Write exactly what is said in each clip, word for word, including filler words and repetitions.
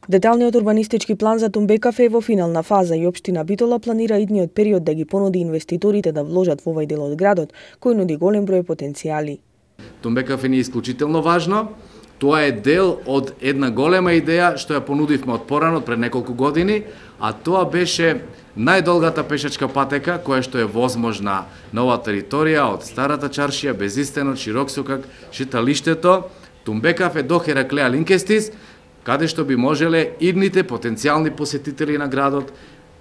Деталниот урбанистички план за Тумбекафе е во финална фаза и општина Битола планира идниот период да ги понуди инвеститорите да вложат во овој дел од градот, кој нуди голем број потенцијали. Тумбекафе ни е исклучително важно. Тоа е дел од една голема идеја што ја понудивме од порано, пред неколку години, а тоа беше најдолгата пешачка патека која што е возможна на оваа територија од Старата чаршија, Безистенот, Широк сокак, шеталиштето, Тумбекафе до Хераклеа Линкестис, каде што би можеле идните потенцијални посетители на градот,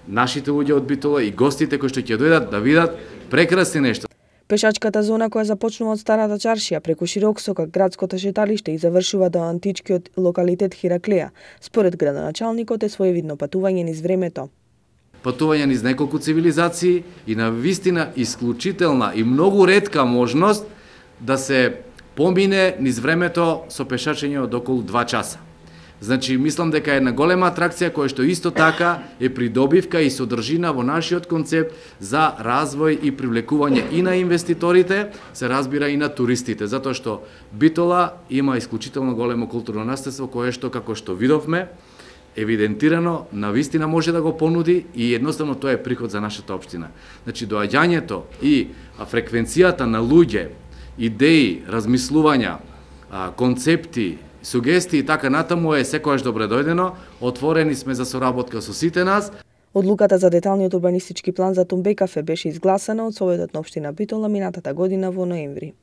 нашите луѓе од Битола и гостите кои што ќе дојдат да видат прекрасни нешта. Пешачката зона која започнува од Старата чаршија преку Широк сокак, градското шеталиште и завршува до античкиот локалитет Хераклеа, според градоначалникот е своевидно патување низ времето. Патување низ неколку цивилизации и на вистина исклучителна и многу ретка можност да се помине низ времето со пешачење од околу два часа. Значи, мислам дека е една голема атракција која што исто така е придобивка и содржина во нашиот концепт за развој и привлекување и на инвеститорите, се разбира и на туристите, затоа што Битола има исклучително големо културно наследство кое што, како што видовме, евидентирано, навистина може да го понуди и едноставно тоа е приход за нашата општина. Значи, доаѓањето и фреквенцијата на луѓе, идеи, размислувања, концепти, сугестии и така натаму е секогаш добре дојдено, отворени сме за соработка со сите нас. Одлуката за деталниот урбанистички план за Тумбекафе беше изгласана од Советот на општина Битола минатата година во ноември.